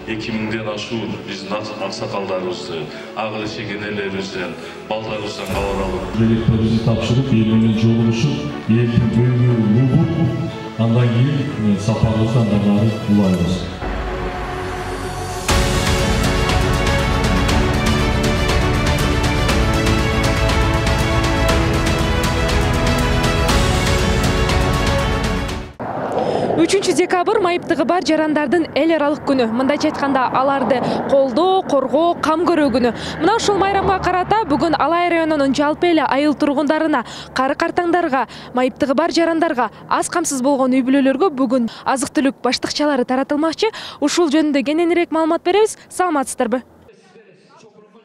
2000ден ашуун биздин аксакалдарыбызды, ак чегенелерибизден, балдарыбыздан кабар алып, билектерибизди тапшырып, эл менен жолугушуп, элдин көңүлүн угуп, андан кийин сапарыбызды андан ары улайбыз. Декабрь майыптыгы бар жарандардын эл аралык күнү. Мындайча айтканда, аларды колдоо, коргоо, кам көрүү күнү. Мына ушул майрамга карата бүгүн Алай районунун жалпы эле айыл тургундарына, кары картаңдарга, майыптыгы бар жарандарга, аз камсыз болгон үй бүлөлөргө бүгүн азык-түлүк баштыкчалары таратылмакчы. Ушул жөнүндө кененирээк маалымат беребиз. Саламатсыздарбы?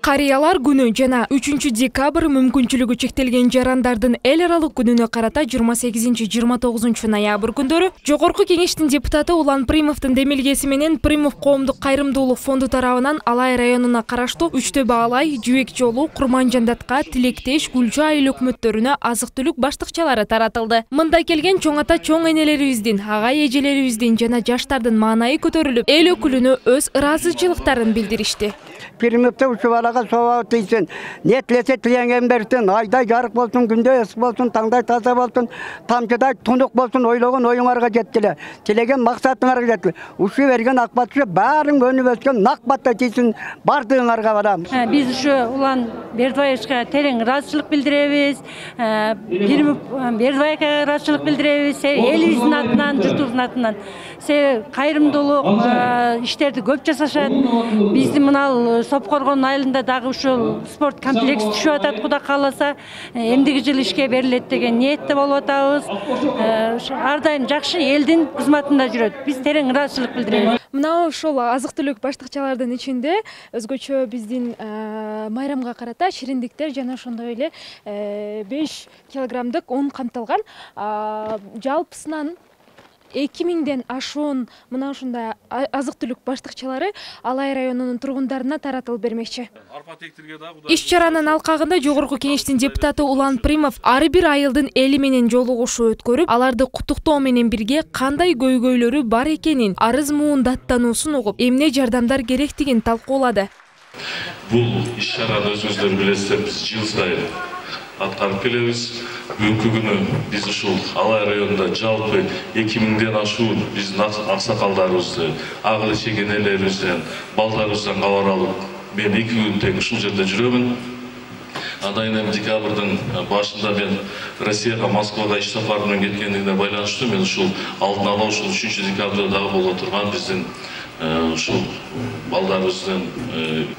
Карыялар күнү жана 3 декабрь мүмкүнчүлүгү чектелген жарандардын эл аралык күнүнө карата 28-29 ноябрь күндөрү Жогорку Кеңештин депутаты Улан Примовдун демилгеси менен Примов коомдук кайрымдуулук фонду тарабынан Алай районуна караштуу Үчтөбө Алай, Жүүек жолу, Курманжандатка, Тилектеш, Гүлчү айыл өкмөттөрүнө азык-түлүк баштыкчалары таратылды. Мында келген чоң ата чоң энелерибиздин, агай эжелерибиздин жана жаштардын маанайы көтөрүлүп, эл өкүлүнө өз ыраазычылыктарын билдиришти. Примовда ушул балага соо тийсин, не тилесе тилеген берсин, айдай жарык болсун, күндөй ысык болсун, таңдай таза болсун, тамчыдай тунук болсун, ойлогон оюңарга жеткиле, тилеген максатыңарга жеткиле. Ушу берген акбатчы баарын көнүп өскөн нак батта тийсин, бардыгыңарга барамыз. Биз ушу Улан Бердибаевичке терең ыраазычылык билдиребиз. Примов Бердибаевге ыраазычылык билдиребиз. Элибиздин атынан, журтубуздун атынан. Кайрымдуулук иштерди көп жасашат. Биздин мына Сопкоргон айылында дагы ушул спорт комплекс түшүп атат, Кудай кааласа, эмдиги жыл ишке берилет деген ниетте болуп атабыз. Ар дайым жакшы элдин кызматында жүрөт. Биз терең ыраазычылык билдиребиз. Мына ушул азык-түлүк баштыкчалардын ичинде өзгөчө биздин майрамга карата шириндиктер жана ошондой эле 5 килограммдык un камтылган. Жалпысынан 2000ден ашуун мына ушундай азык-түлүк баштыкчалары Алай районунун тургундарына таратылып бермекчи. Иш-чаранын алкагында Жогорку Кеңештин депутаты Улан Примов ар бир айылдын эли менен жолугушуу өткөрүп, аларды куттуктоо менен бирге кандай көйгөйлөрү бар экенин, арыз муун даттануусун угуп, эмне жардамдар керектигин талкуулады. Бул иш-чараны өзүңүздөр билесиздер, биз жыл сайын аткарып келебиз. Бүгүнкү күнү биз ушул Алай районунда жалпы 2000ден ашуун биздин аксакалдарыбызды, ак чегенелерибизден, балдарыбыздан кабар алып, мен 2 күн тең ушул жерде жүрөмүн. Андан кийин декабрдын башында мен Россияга, Москвага иш сапары менен кеткендигине байланыштуу мен ушул алдын ала ушул 3 декабрда дагы боло турган биздин ушул балдарыбыздын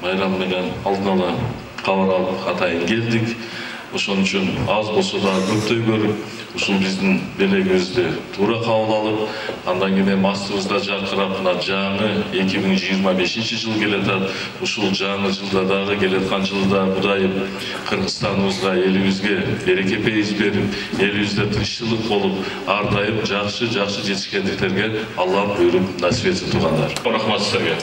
майрамы менен алдын ала кабар алып атайын келдик. Ошон үчүн аз болсо да көптөй көрүп, ушул биздин белегибизди туура кабыл алып, андан кийин астыбызда жаркырап мына жаңы 2025-жыл келатат. Ушул жаңы жылда дагы келаткан жылда Кудайым Кыргызстаныбызга, элибизге береке-пейиз берип, элибизде тынччылык болуп, ар дайым жакшы жетишкендиктерге Аллах буйруп насип этсин туугандар. Рахмат силерге.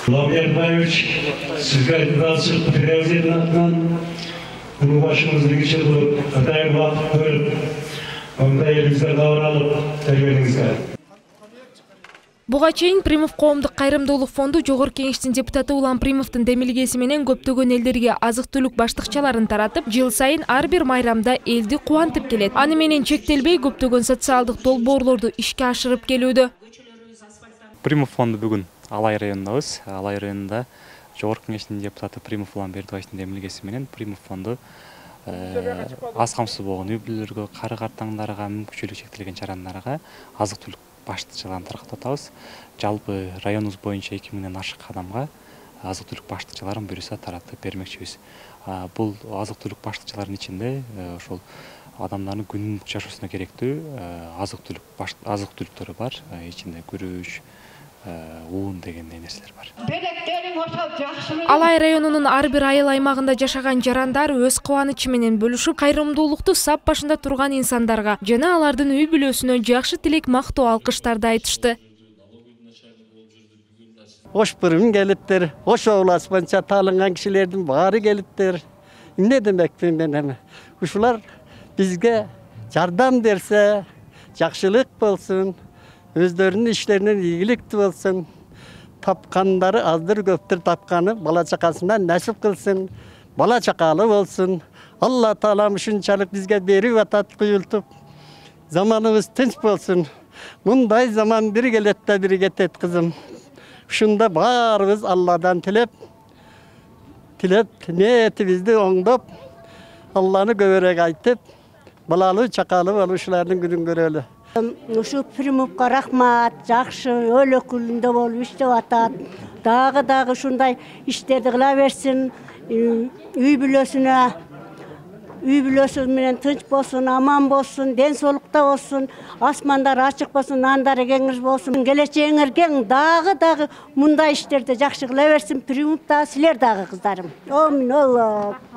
Улан Бердибаевич, сизге ыраазычылык билдиребиз элдин атынан. Күнү башыңызды кечир кылып, атайын убакыт бөлүп, мындай элибизде кабар алып келгениңизге. Буга чейин Примов коомдук кайрымдуулук фонду Жогорку Кеңештин депутаты Улан Примовдун демилгеси менен көптөгөн элдерге азык-түлүк баштыкчаларын таратып, жыл сайын ар бир майрамда элди кубантып келет. Аны менен чектелбей көптөгөн социалдык долбоорлорду ишке ашырып келүүдө. Примов фонду бүгүн Алай районундабыз. Алай районунда Жогорку Кеңештин депутаты Примов Улан Бердибаевдин демилгеси менен Примов фонду аз камсыз болгон үй бүлөлөргө, кары картаңдарга, мүмкүнчүлүгү чектелген жарандарга азык-түлүк баштыкчаларын таратып атабыз. Жалпы районубуз боюнча 2000ден ашык адамга азык-түлүк баштыкчаларын буюрса таратып бермекчибиз. Бул азык-түлүк баштыкчаларынын ичинде ошол адамдардын күнүмдүк жашоосуна керектүү азык-түлүктөрү бар. Ичинде күрүч, уун деген нерселер бар. Алай районунун ар бир айыл аймагында жашаган жарандар өз кубанычы менен бөлүшүп, кайрымдуулукту сап башында турган инсандарга жана алардын үй бүлөсүнө жакшы тилек, мактоо, алкыштарды айтышты. Ош бұрын келиптер, ош ооласманча таалынган кишилердин баары келиптер. Эмне демекмин мен эми? Ушулар бизге жардам берсе, жакшылык болсун, өздөрүнүн иштеринен ийгиликтүү болсун. Тапкандары аздыр көптүр тапканы бала чакасына насип кылсын. Бала чакалы болсун. Алла Таалам ушунчалык бизге берип атат куюлтуп. Заманыбыз тынч болсун. Мындай заман бир келет да бир кетет кызым. Ушунда баарыбыз Алладан tilep ниетибизди оңдоп, Алланы көбүрөөк айтып, балалуу чакалуу болушулардын күнүн көрөлү. Ушу Примовка рахмат, жакшы өл өкүлүндө болуп иштеп атат. Дагы ушундай иштерди кыла берсин. Үй бүлөсү менен тынч болсун, аман болсун, ден соолукта болсун, асмандар ачык болсун, нандары кеңир болсун. Келечегиңер кең, дагы мындай иштерди жакшы кыла берсин. Примов да, силер дагы кыздарым. Амин Алла.